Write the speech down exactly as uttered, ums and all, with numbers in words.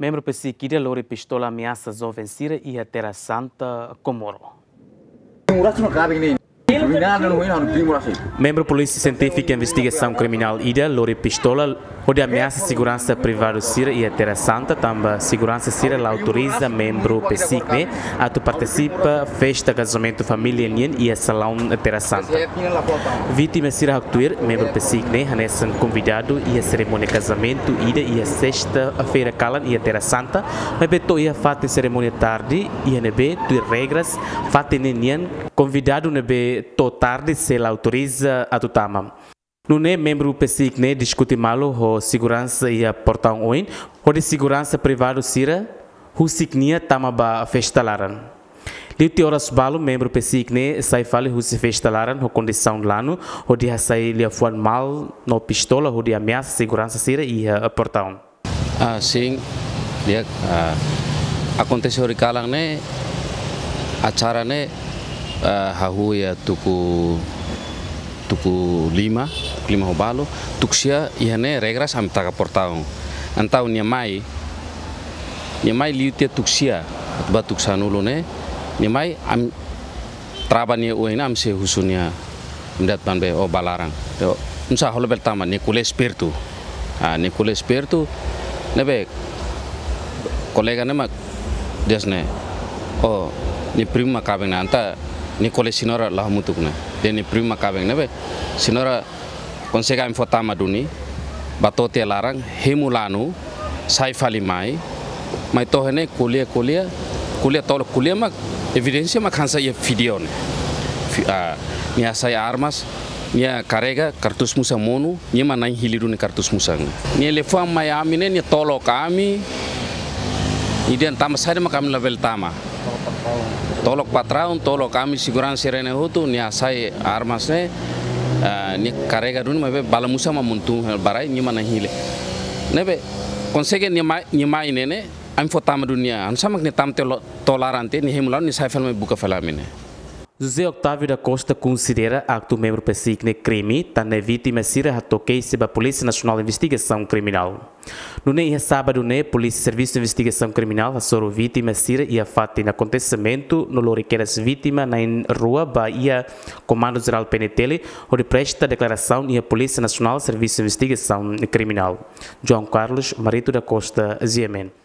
Membru PCIC ida lori pistola ameasa joven sira iha Terra Santa, Comoro. Membru Polísia Sientífika Investigasaun Kriminál ida lori pistola hodi ameasa seguransa privadu sira iha Terra Santa, tanba seguransa sira la autoriza membru PCIC ne'e atu partisipa festa kazamentu família nian iha salaun Terra Santa. Vítima sira haktuir membru PCIC ne'e hanesan konvidadu iha serimónia kazamentu ida iha sesta-feira kalan iha Terra Santa, maibé to'o iha fatin serimónia tarde, iha ne'ebé tuir regras fatin ne'e nian konvidadu ne'ebé to'o tarde sei la autoriza atu tama. Nune'e membru PCIC ne'e diskute malu ho seguransa iha portaun oin, hodi seguransa privadu sira husik nia tama ba festa laran. Liu tiha oras balu membru PCIC ne'e sai fali husi festa laran ho kondisaun lanu, hodi hasai liafuan malu no pistola hodi ameasa seguransa sira iha portaun. Ah, sin, di'ak, ah, akontese horikalan ne'e, acara ne'e, ah, hahú iha tuku, tuku lima, tuku lima ho balu, tuku sia iha ne'e regras ami taka portaun. Entaun nia mai, nia mai liu tiha tuku sia, ba tuku sanulu ne'e, nia mai ami trava nia oin, ami sei husu nia, ami dehan tan be, ó bá laran. Yo, nusá, ó labele tama, nia ko'alia espertu. Ah, nia ko'alia espertu, ne'ebé kolega ne'e mak dehan ne'e, ó, nia primu mak kaben ona, entaun nia ko'alia señora la hamutuk ne'e. Dehan nia primu mak kaben ona, ne'ebé señora konsege ami fó tama duni, bá to'o tiha laran, hemu lanu, sai fali mai, mai to'o iha ne'e ko'alia, ko'alia, ko'alia tolok, ko'alia mak, evidénsia mak hanesan iha vídeo ne'e. Fi-, ah, nia hasai armas, nia karrega kartus musan monu, nia mak na'in hili duni kartus musan. Nia liafuan mai ami ne'e, nia tolok ami, nia dehan tama saida mak ami labele tama. Tolok patraun, tolok ami seguransa sira-ne'e hotu, nia hasai armas ne'e, ah, nia karrega duni, maibé bala musan mak monu tun ba rai, nia mak na'in hili. Ne'ebé, konsege nia mai, nia mai ne'e ne'e, ami fó tama duni nia, hanesan mak nia tama tiha lo-, to'o laran tiha, nia hemu lanu, nia sai fali mai buka fali ami ne'e. José Octávio da Costa konsidera aktu membru PCIC ne'e krime, tan ne'e vítima sira hato'o keixa ba Polísia Nasionál Investigasaun Kriminál. Nune'e iha sábadu ne'e, Polísia Servisu Investigasaun Kriminál hasoru vítima sira iha fatin akontesimentu no lori kedas vítima na'in rua ba iha Komandu Jerál PNTL, hodi presta deklarasaun iha Polísia Nasionál Servisu Investigasaun Kriminál. João Carlos Marito da Costa, GMN.